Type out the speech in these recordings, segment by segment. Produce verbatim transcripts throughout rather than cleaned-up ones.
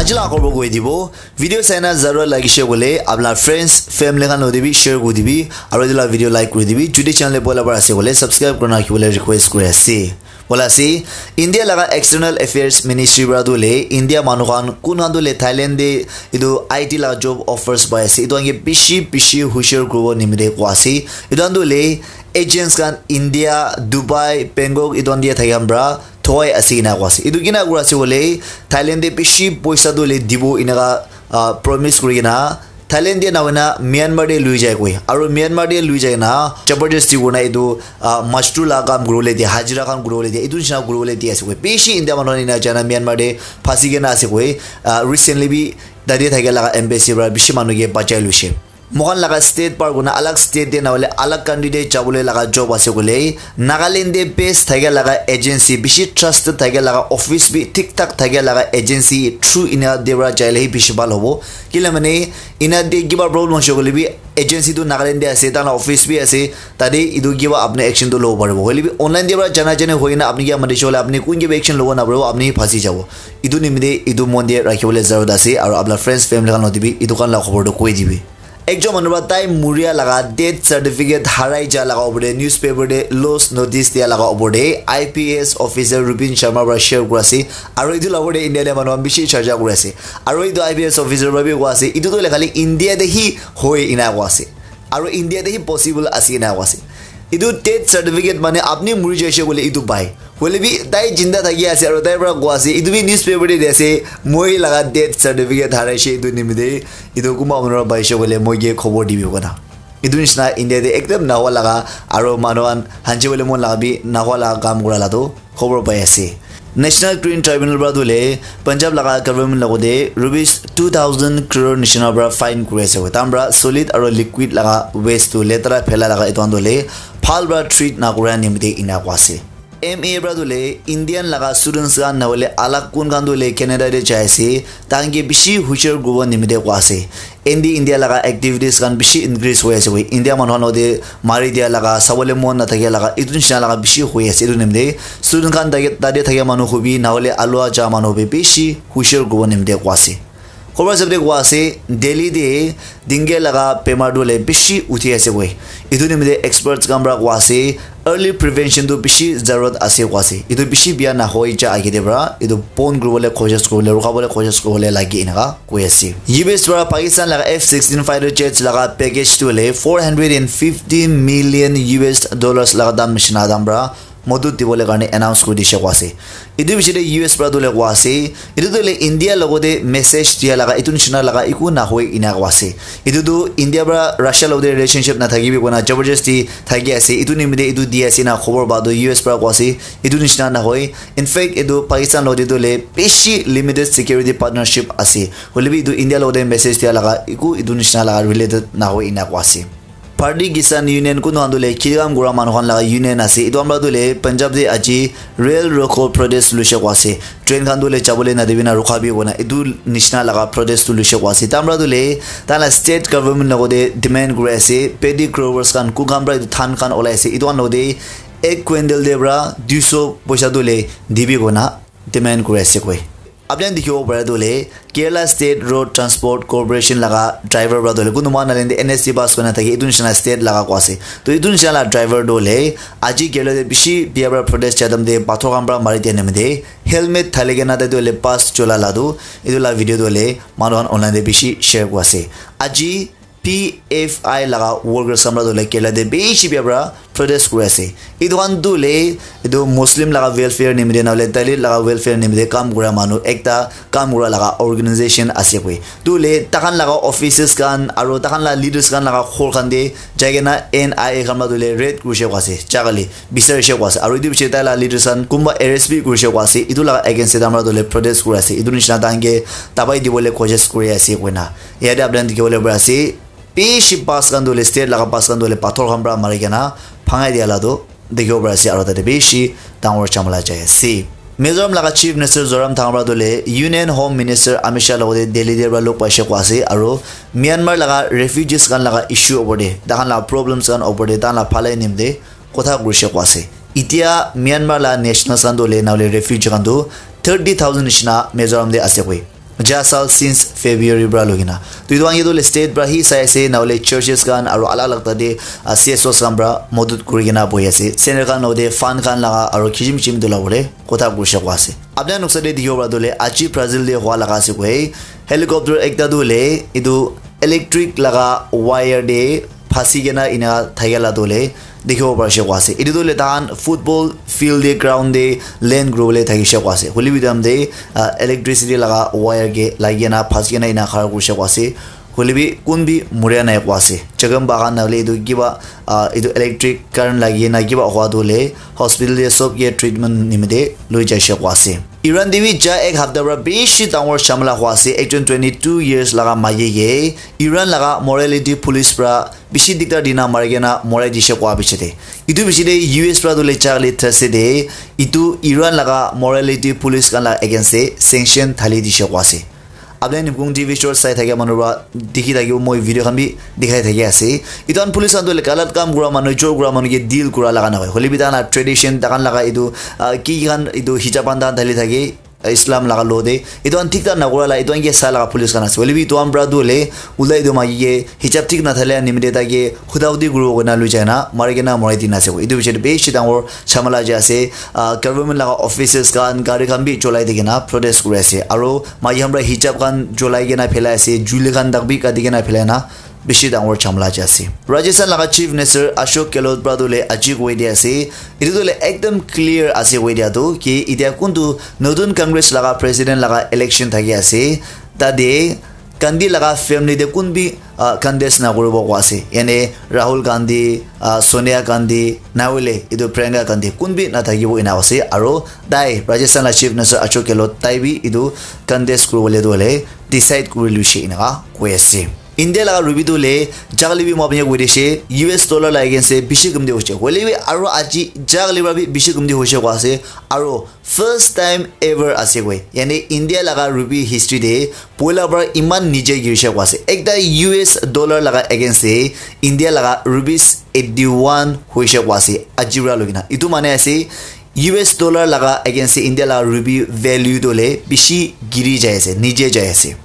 Ajila khobor koi dibo. Video saina zarura lagise koile apna friends, family khan lode bi share kuri dibi, aru etu la video like kuri dibi. Jodi channel te poila bar ase koile subscribe kurina rakhibole request kuri ase. Bola ase, India laga External Affairs Ministry para tu le India manu khan kun khan tu le Thailand te etu I T laga job offers pai ase. Etu khan ke bishi bishi hushar kuribo nimite koa ase. Etu khan tu le agents khan India, Dubai, Bangkok etu khan te thaki khan para thokai ase ena koa ase. Etu kina kura ase koile Thailand te bishi poisa tu le dibo enaka ah, promise kuri kena Thailand te na hoina Myanmar te lui jai koi. Aru Myanmar te lui jai na jabardasti kurina etu ah, mazdoor la kam kuribole dia, hajira khan kuribole dia, etu nishina kuribole dia ase koi. Bishi India manu khan ena jai na Myanmar te phasi kena ase koi. Ah, recently bi tate thakia laga embassy para bishi manu ke bachai luishe. Moikhan laga state par kurina alag state te na hoile alag country te jabole laga job ase koile Nagaland te base thakia laga agency, bishi trusted thakia laga office bi thik thak thakia laga agency through ena te para jaile hi bishi bhal hobo. Kile mane ena te kiba problem hoise koile bi agency tu Nagaland te ase, tai la office bi ase, tate etu kiba apni action tu lobo paribo. Hoile bi online te para jana jani hoi kena apni kiba mati shole apni kun kiba action lobo na paribo, apni phasi jabo. Etu nimite etu mon te rakhibole zarurat ase, aru apna friends, family khan lode bi etu khan la khobor tu koi dibi. Ekjon manu para tai muria laga death certificate harai ja laga opor te newspaper te loss notice dia laga opor te I P S officer Rupin Sharma para share kura ase, aru etu la opor te India te manu khan bishi charcha kuri ase, aru etu I P S officer para bi koi ase etu tu hoile khali India te hi hoi ena koi ase, aru India te hi possible ase ena koi ase. Etu death certificate mane apni muri jaise koile etu pai. Hoile bi tai jinda thaki ase aru tai para koi ase, etu bi newspaper te di ase, moi laga death certificate haraise etu nimite, etu kunba manu para paise koile moi ke khobor dibi kona. Etu nishina India te ekdam nahoa laga aru manu khan hanchi bole mon laga bi nahoa laga kam kura la tu khobor pai ase. National Green Tribunal para tu le Punjab laga government logote rupees two thousand crore nishina para fine kuri ase. Tam para solid aru liquid laga waste tu letara phela laga etu khan tu le bhal para treat na kura nimite ena koi ase. M A para tu le Indian laga students khan na hoile alag kun khan tu le Canada te jai ase, tai khan ke bishi hushar kuribo nimite koi ase. Indi India laga activities khan bishi increase hoi ase koi. India manu khan lode mari dia laga, sabole mon na thakia laga, etu nishina laga bishi hoi ase. Etu nimite student khan tate, tate thakia manu hobi, na hoile alua ja manu hobi bishi hushar kuribo nimite koi ase. Khobor sabte koi ase, Delhi te dengue laga bemar tu le bishi uthi ase koi. Etu nimite experts khan para koi ase, early prevention tu bishi zarurat ase koi ase. Etu bishi bia na hoi ja age te para, etu bon kuribole koshish kuribole, rukhabole koshish kuribole lage enaka koi ase. U S para Pakistan laga F sixteen fighter jets laga package tu le four hundred and fifty million U S dollars laga dam nishina dam para modut dibole karne announce kuri dishe koi ase. Etu bishi te U S para tu le koi ase, etu tu le India logote message dia laga, etu nishina laga eku na hoi ena koi ase. Etu tu India para Russia logote relationship na thakibi kona jabardasti thaki ase. Etu nimite etu di ase na khobor pa tu U S para koi ase. Etu nishina na hoi. In fact, etu Pakistan logote tu le bishi limited security partnership ase. Hoile bi etu India logote message dia laga eku etu nishina laga related na hoi ena koi ase. Bharatiya Kisan Union kunu khan tu le kheti kam kura manu khan laga union ase. Etu khan para tu le Punjab te aji rail roko protest luishe koi ase. Train khan tu le jabole na dibi na rukha bi kona. Etu nishina laga protest tu luishe koi ase. Tai khan para tu le tai la state government logote demand kuri ase. Paddy growers khan kun khan para etu dhan khan olai ase. Etu khan logote ek quintal te para dui so poisa tu le dibi kona demand kuri ase koi. Apni khan dikhibo para tu le Kerala State Road Transport Corporation laga driver para tu le kunu moikhan Nagaland te N S T pass kurina thaki etu nishina state laga koi ase. To etu nishina la driver tu le aji Kerala te bishi bia para protest jadam te pathor khan para mari dia nimite helmet thali kena tai tu le pass chola la tu etu la video tu le manu khan online te bishi share koi ase. Aji P F I laga workers khan para tu le Kerala te bishi bia para protest kuri ase. Etu khan tu le etu Muslim laga welfare nimite na hoile Dalit laga welfare nimite kam kura manu ekta kam kura laga organization ase koi. Tu le tai khan laga offices khan aru tai khan la leaders khan laga ghor khan te jai kena N I A khan para tu le raid kurishe koi ase. Jaga le bisarishe koi ase. Aru etu bishi tai la leaders khan kunba arrest bi kurishe koi ase. Etu laga against te tai khan para tu le protest kuri ase. Etu nishina tai khan ke dabai dibole koshish kuri ase koina. Yate apni khan dikhi bole pari ase. Bishi bus khan tu hoile state laga bus khan tu hoile pathor khan para mari kena bhangai dia la tu dikhibo pari ase aru tate bishi dangor jhamala jai ase. Mizoram laga Chief Minister Zoram Thanga para tu hoile Union Home Minister Amit Shah logote Delhi te para log paise koi ase aru Myanmar laga refugees khan laga issue opor te, tai khan laga problems khan opor te, tai khan laga bhalai nimite kotha kurishe koi ase. Itya Myanmar laga nationals khan tu hoile na hoile refugee khan tu thirty thousand nishina Mizoram te ase koi. Ja sal since February pra lugina. To etu khan ke tu le state pra hi sai ase, na hole churches khan aru alag alag tate, ah, C S Os khan pra modut kuri kena bohi ase. Center khan lode fund khan laga aru kichim kichim tu la bole kotha kuri shakwa ase. Apna nuksa de dikhibo pra tu le aji Brazil de hua laga ase koi. Helicopter ekta tu le etu electric laga wire de phasi kena ina thakya la tu le dikhibo parishe koa ase. Etu tu le tahan football field de, ground de, land kuribole thakishe koa ase. Hoilebi etu time de, ah, electricity laga wire ke lagi kena phasi kena ina khara kurishe koa ase. Hoilebi kun bi muria nai koa ase. Chakam bagan na hoile etu kiba, ah, etu electric current lagi kena kiba hua tu le hospital de sob ke treatment nimite loi jaishe koa ase. Iran de bi ja ek hapta pra bishi dangor jhamala hua ase. Ekjon twenty two years laga maiki ke Iran laga morality police pra bishi diktar dina mari kena morai dishe koa piche de. Etu piche de U S pra tu le charli thase de, etu Iran laga morality police khan la against de sanction thali dishe koa ase. Apni khan Nipkung T V short sai thakia manu pra dikhi thakibo, moi video khan bi dikhai thaki ase. Etu khan police khan tu le galat kam kura manu, chor kura manu ke deal kura laga nahoi. Hoilebi tahan la tradition, tahan laga etu, ah, ki ki khan etu hijab khan tahan thali thake, Islam laga law de. Etu khan thik thak nakura la, etu khan ke sa laga police khan ase. Hoilebi etu khan pra tu le, ulta etu maiki ke hijab thik nathale nimite tai ke huda hudi kuribo koina lui jai na, mari kena morai dina ase. Etu piche de bishi dangor jhamala jai ase. Ah, government laga offices khan, gari khan bi cholai di kena protest kuri ase. Aru maiki khan pra hijab khan cholai kena phelai ase, chuli khan tak bi kati kena phelai na, bishi dangor jhamala jai ase. Rajasthan laga Chief Minister Ashok Gehlot pra tu le aji koi di ase, etu tu le ekdam clear ase koi dia tu ki etia kuntu notun Congress laga president laga election thaki ase, tate Gandhi laga family de kun bi, ah, contest na kuribo koa ase. Yane Rahul Gandhi, ah, Sonia Gandhi, na hoile etu Priyanka Gandhi kun bi na thakibo ena ase. Aru tai Rajasthan la Chief Minister Ashok Gehlot tai bi etu contest kuribole tu hoile decide kuri luishe eneka koi ase. India laga rupee tu le jagale bi moi apni koi dishe, U S dollar la against de bishi kumti hoishe. Hoile bi aru aji jagale pra bi bishi kumti hoishe koa ase. Aru first time ever ase koi. Yane India laga rupee history de poila pra iman nije girishe koa ase. Ekta U S dollar laga against de India laga rupees eighty one hoishe koa ase. Aji pra lugina. Etu mane ase U S dollar laga against de India laga rupee value tu le bishi giri jai ase, nije jai ase.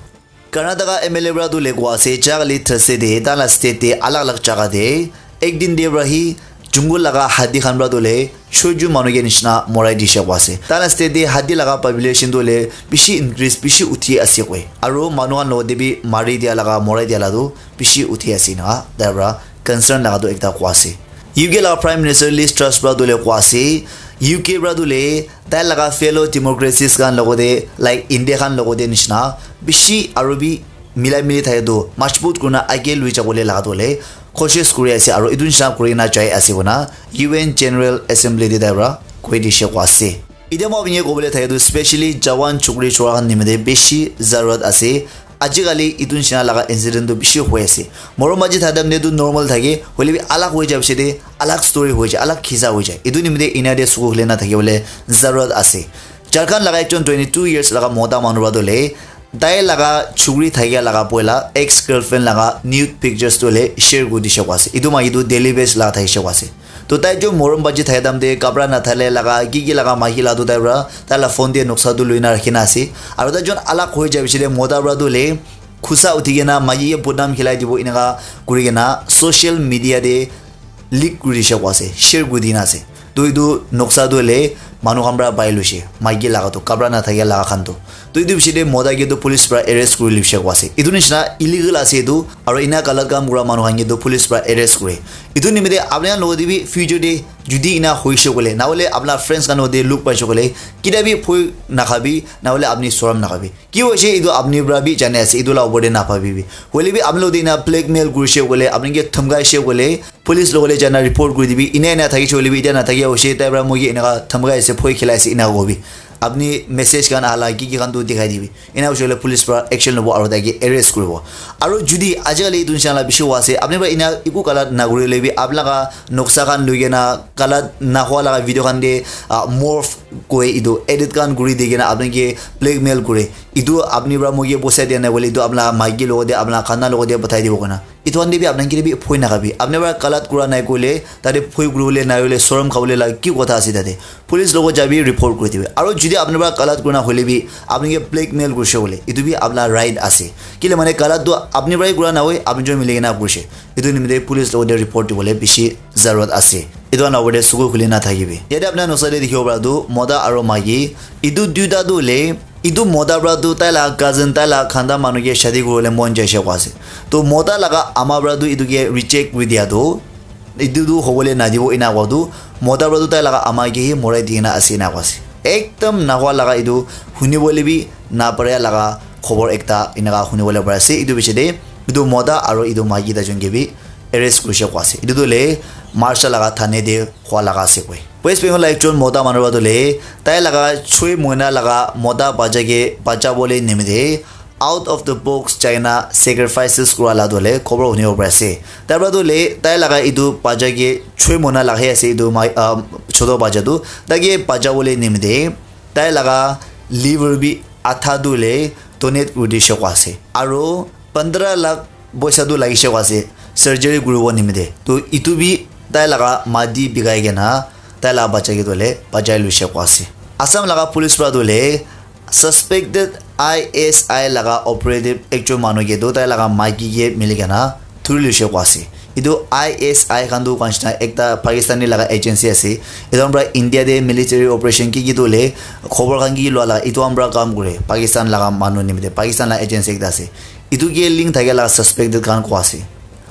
Karnataka M L A pra tu le koa ase, jagale Thursday de, tahan la state de, alag alag jaga de, ek din de pra hi, jungle laga hati khan pra tu le, choiju manu ke nishina morai dishe koa ase. Tahan la state de, hati laga population tu le, bishi increase, bishi uthi ase koi. Aru manu khan logot de bi mari dia laga, morai dia la tu, bishi uthi ase na, tai pra concern laga tu ekta koa ase. U K laga Prime Minister Liz Truss pra tu le koa ase, U K pra tu le, tai laga fellow democracies khan logote, like India khan logote nishina, bishi aru bi milai mili thake tu, majbut kurina age lui jabole laga tu le, koshish kuri ase, aru etu nishina kurina jai ase koina, U N General Assembly te tai pra koi dishe koa ase. Etia moi apni ke kobole thake tu, specially jawan chukri chora khan nimite bishi zarurat ase. Ajikali etu nishina laga incident tu bishi hoi ase. Morom maji thaka time te tu normal thake, hoile bi alag hoi jai piche te alag story hoi jai, alag khisa hoi jai. Etu nimite ena te suku hule na thakibole zarurat ase. Jharkhand laga ekjon twenty two years laga mota manu para tu le, tai laga chukri thakia laga poila ex girlfriend laga nude pictures tu le share kuri dishe koa ase. Etu maiki tu daily base laga thakishe koa ase. To tai jo morom baji thaka time te kapra nathale laga, ki ki laga maiki la tu tai para, tai la phone te noksa tu lui na rakhi na ase. Aru tai jon alag hoi jai piche te mota para tu le khusa uthi kena maiki ke bodnam khilai dibo eneka kuri kena social media te leak kuri dishe koa ase, share kuri dina ase. To etu noksa tu hoile manu khan para pai loishe, maiki laga tu, kapra nathakia laga khan tu. To etu piche te mota ke tu police para arrest kuri loishe koa ase. Etu nishina illegal ase etu, aru ena galat kam kura manu khan ke tu police para arrest kure. Etu nimite apni khan logot te bi future te judi ena hoishe koile, na hoile apna friends khan logot te luk paishe koile, ketia bi bhoi nakhabi, na hoile apni sorom nakhabi. Ki hoise etu apni para bi jani ase, etu la opor te naphabibi. Hoile bi apni logot te ena blackmail kurishe koile, apni ke dhamkaishe koile, police logot te jana report kuri dibi. Ena ena thakishe koile bi, etia nathakia hoise, tai para moi ke eneka dhamkai ase, bhoi khilai ase, ena kobi. Apni message khan ahala ki ki khan tu dikhai dibi. Ena hoise koile police para action lobo aru tai ke arrest kuribo. Aru judi ajikali etu nishina la bishi hua ase, apni para ena eku galat nakurile bi, apni laga noksa khan lui kena galat nahua laga video khan te, ah, morph koi etu edit khan kuri di kena apni ke blackmail kure. Etu apni para moi ke poisa dia nai koile, etu apna maiki logot te, apna khana logot te pathai dibo koina. Etu khan te bi apni khan ke bi bhoi nakabi. Apni para galat kura nai koile, tate bhoi kuribole nai hoile, sorom khabole la ki kotha ase tate? Police logot jabi, report kuri dibi. Aro jodi apni para galat kurina hoile bi, apni ke blackmail kurise bole, etu bi apna right ase. Kile mane galat tu apni para kura nahoi, apni jon mili kena kurise. Etu nimite police logot te report dibole bishi zarurat ase. Etu khan logot te suku khuli na thakibi. Yate apni khan noksa te dikhibo para tu mota aro maiki, etu duita tu hoile, etu mota para tu tai la cousin, tai la khanda manu ke shadi kuribole mon jaise koi ase. To mota laga ama para tu etu ke reject kuri dia tu, etu tu hobole nadibo ena koa tu, mota para tu tai laga ama ke hi morai di kena ase ena koa ase. Ekdam nahua laga etu hunibole bi naparia laga khobor ekta eneka hunibole pari ase. Etu piche te etu mota aro etu maiki duijon ke bi arrest kurise koi ase. Etu tu hoile Marshall laga thane te hua laga ase koi. West Bengal la ekjon mota manu para tu hoile tai laga choi mohina laga mota bacha ke bachabole nimite out of the box jaina sacrifices kura la tu hoile khobor hunibo pari ase. Tai para tu hoile tai laga etu bacha ke choi mohina laga he ase etu mai, ah, choto bacha tu, tai ke bachabole nimite tai laga liver bi adha tu hoile donate kuri dise koi ase. Aro pandra lakh poisa tu lagise koi ase surgery kuribo nimite. To etu bi tai laga mati bikai kena tai laga bacha ke tu hoile bachai luise koi ase. Assam laga police para tu hoile suspected I S I laga operative ekjon manu ke tu tai laga maiki ke mili kena thuri luise koi ase. Etu I S I khan tu koi nishina ekta Pakistani laga agency ase. Etu khan para India te military operation ki ki tu hoile khobor khan ki ki lua laga etu khan para kam kure. Pakistan laga manu nimite, Pakistan laga agency ekta ase. Etu ke link thakia laga suspected khan koi ase.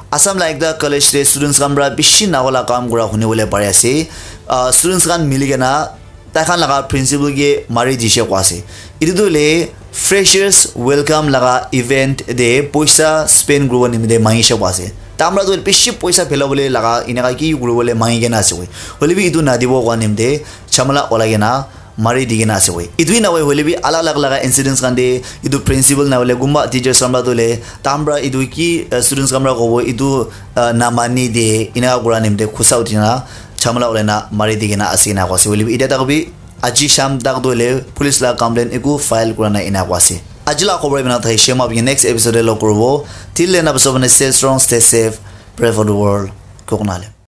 Assam la ekta college te students khan para bishi nahoi la kam kura hunibole pari ase. Ah, students khan mili kena tai khan laga principal ke mari dise koi ase. Etu tu hoile freshers welcome laga event te poisa spend kuribo nimite mangise koi ase. Tai khan para tu bishi poisa phelabole laga eneka ki kuribole mangi kena ase koi. Hoile bi etu nadibo koa nimite jhamala olai kena mari di kena ase koi. Etu hi nahoi hoile bi alag alag laga incidents khan te etu principal na hoile kunba teachers khan para tu hoile tai khan para etu ki, uh, students khan para kobo etu, uh, namani de eneka kura nimite khusa uthi na jhamala ulai na mari di kena ase ena koa ase. Hoile bi eta tak bi aji sham tak tu hoile police la complaint eku file kura nai ena koa ase. Aji la khobor iman thai shema bi next episode te log kuribo. Till then, stay strong, stay safe, pray for the world. Koknale.